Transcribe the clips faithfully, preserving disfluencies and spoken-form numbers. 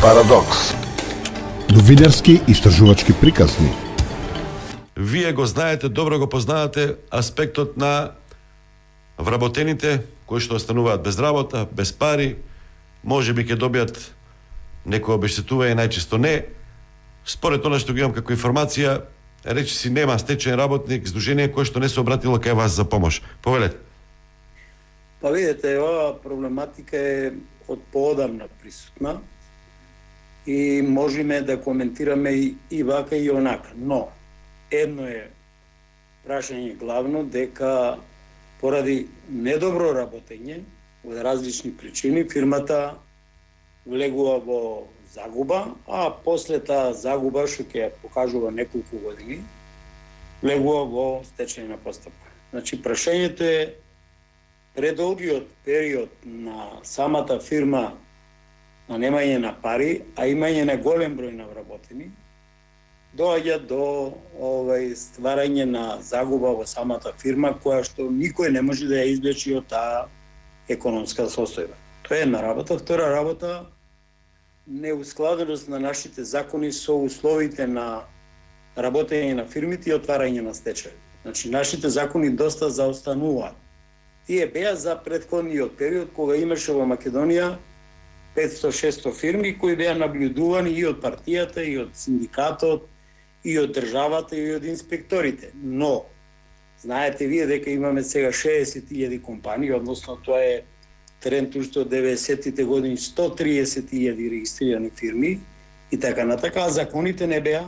Парадокс. Новинарски истражувачки приказни. Вие го знаете, добро го познавате аспектот на вработените кои што остануваат без работа, без пари, можеби ќе добијат некој обештетување, најчесто не. Според она што го имам како информација, речи си нема стечаен работник, здружение кое што не се обратило кај вас за помош. Повелете. Па видите, ова проблематика е од поодамна присутна и можеме да коментираме и, и вака и онака. Но, едно е прашање главно дека поради недобро работење од различни причини фирмата влегува во загуба, а после таа загуба што ќе ја покажува неколку години влегува во стечајна постапка. Значи прашањето е предолгиот период на самата фирма на немање на пари, а имање на голем број на вработени, доаѓа до овај стварање на загуба во самата фирма, која што никој не може да ја извлечи од таа економска состојба. Тоа е една работа. Втора работа, неускладеност на нашите закони со условите на работење на фирмите и отварање на стечај. Значи, нашите закони доста заостануваат. Тие беа за претходниот период, кога имаше во Македонија петсто-шесто фирми кои беа наблюдувани и од партијата, и од синдикатот, и од државата, и од инспекторите. Но, знаете вие дека имаме сега шеесет илјади компании, односно тоа е тренд уште од деветдесеттите години, сто триесет илјади регистрирани фирми и така натака, а законите не беа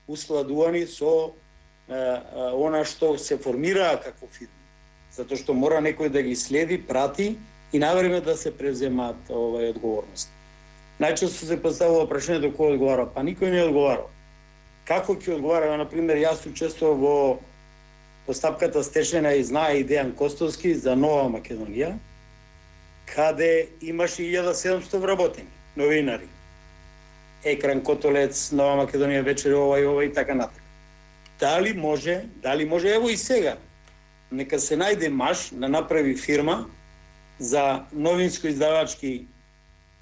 усладувани со е, е, она што се формираа како фирми. Затоа што мора некој да ги следи, прати и навреме да се превземаат овај одговорност. Најчесто се поставува прашањето кој одговара, па никој не одговара. Како ќе одговара, например, јас учествував во постапката стечајна и знае и Дејан Костовски за Нова Македонија, каде имаше илјада и седумстотини вработени, новинари. Екран Котолец, Нова Македонија вечер, ова и ова и така натака. Дали може, дали може, ево и сега, нека се најде маж да направи фирма за новинско-издавачки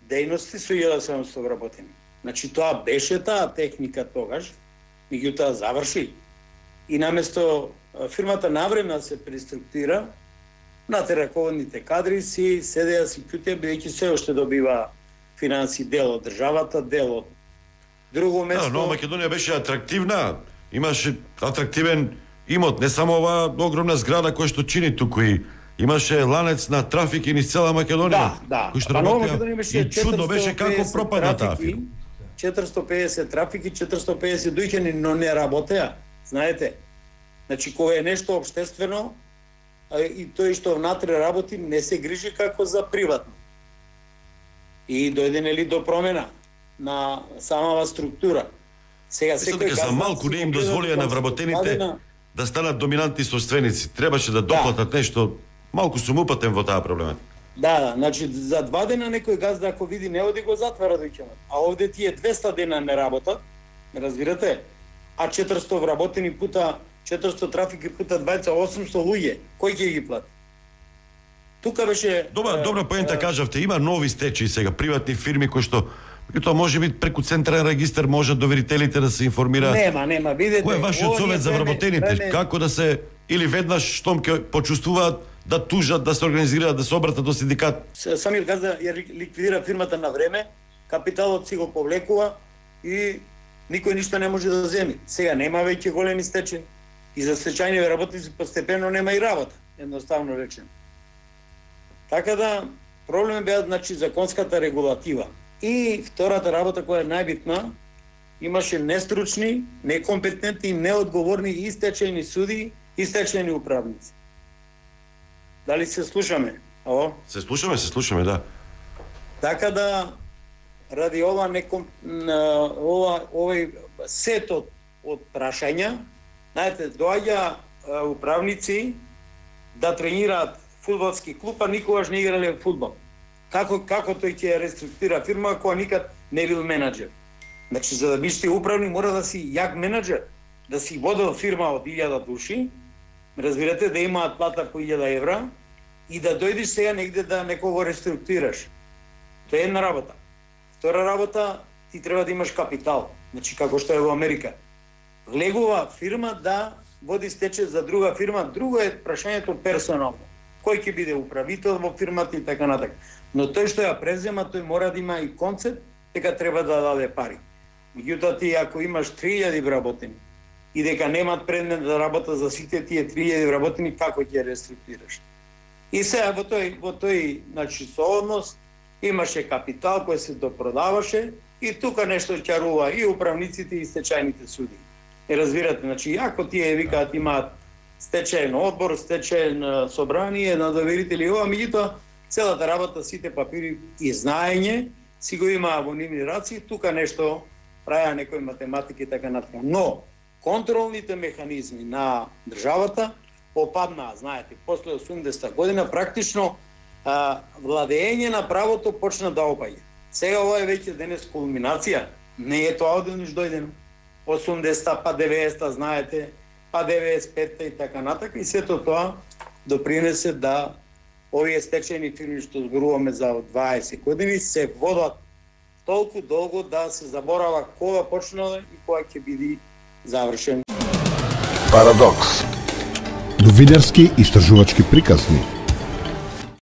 дејности со илјада и седумстотини вработени. Значи тоа беше таа техника тогаш, меѓутоа заврши. И наместо фирмата навреме да се преструктуира, нате раководните кадри си седеа си кјутеа, бидејќи се уште добива финанси дел од државата, дел од друго место. Да, Нова Македонија беше атрактивна, имаше атрактивен имот, не само оваа огромна зграда која што чини туку, и имаше ланец на трафики низ цела Македонија. Да, да. Кој што па Нова работеа, Македонија беше и чудно беше како пропадна таа фирма. четиристо и педесет трафики, четиристо и педесет дуќани, но не работеа, знаете. Значи, кога е нешто општествено, и тој што внатре работи, не се грижи како за приватно. И дојде нели до промена на самава структура. Сега секој дека за малку не им дозволија на вработените да станат доминантни собственици. Требаше да доплатат да. нешто, малку сум упатен во таа проблематика. Да, да, значи за два дена некој газда ако види не оди го затвара дојќема. А овде тие двеста дена не работат, разбирате? А четиристо вработени пута четиристо трафики пута дваесет осумсто луѓе, кој ќе ги плати? Тука беше Добра, добра поента кажавте, има нови стечаи сега, приватни фирми кои што тоа може би преку централен регистар можат доверителите да се информираат. Нема, нема, видете. Кој е вашиот совет за вработените? Време... Како да се или веднаш штом ќе почувствуваат да тужат, да се организираат, да се обратат до синдикат? Самир газда ја ликвидира фирмата на време, капиталот си го повлекува и никој ништо не може да земи. Сега нема веќе големи стечаи и за стечајни работници постепено нема и работа, едноставно речено. Така да проблем беа значи законската регулатива. И втората работа која е најбитна, имаше нестручни, некомпетентни, неодговорни и стечајни суди и стечајни управници. Дали се слушаме? Ао? Се слушаме, се слушаме, да. Така да, ради ова неком, ова, овој сетот од прашања, знаете, доаѓа управници да тренираат фудбалски клуб, а никогаш не играле фудбал. Како како тој ќе реструктурира фирма која никад не бил менаџер? Значи за да биш ти управник мора да си јак менаџер, да си водел фирма од илјада души, разбирате, да имаат плата по илјада евра и да дојдеш сега негде да некого реструктурираш. Тоа е една работа. Втора работа, ти треба да имаш капитал. Значи, како што е во Америка. Влегува фирма да води стечај за друга фирма, друго е прашањето персонално. Кој ќе биде управител во фирмата и така натака. Но тој што ја презема, тој мора да има и концепт, дека треба да даде пари. Меѓутоа, ти ако имаш три илјади вработени и дека немаат предмет да работат за сите тие три илјади вработени, како ќе реструктурираш? И сега во тој, во тој значи, сооднос имаше капитал кој се допродаваше и тука нешто чарува и управниците и стечајните суди. И разбирате, значи, ако тие викаат имаат стечајен одбор, стечајен собрание на доверители, ова, меѓутоа, целата работа, сите папири и знаење, си го имаа во нивни раци, тука нешто правеа некои математики и така натака. Но, контролните механизми на државата опаднаа, знаете, после осумдесета година, практично а, владење на правото почна да опаѓа. Сега ова е веќе денес кулминација, не е тоа одеднаш дојдено. осумдесета, па деветдесета, знаете, па деветдесет и петта и така натака, и сето тоа допринесе да овие стечајни фирми што зборуваме за дваесет години се водат толку долго да се заборава кога почнала и кога ќе биде завршен. Парадокс. Новинарски истражувачки приказни.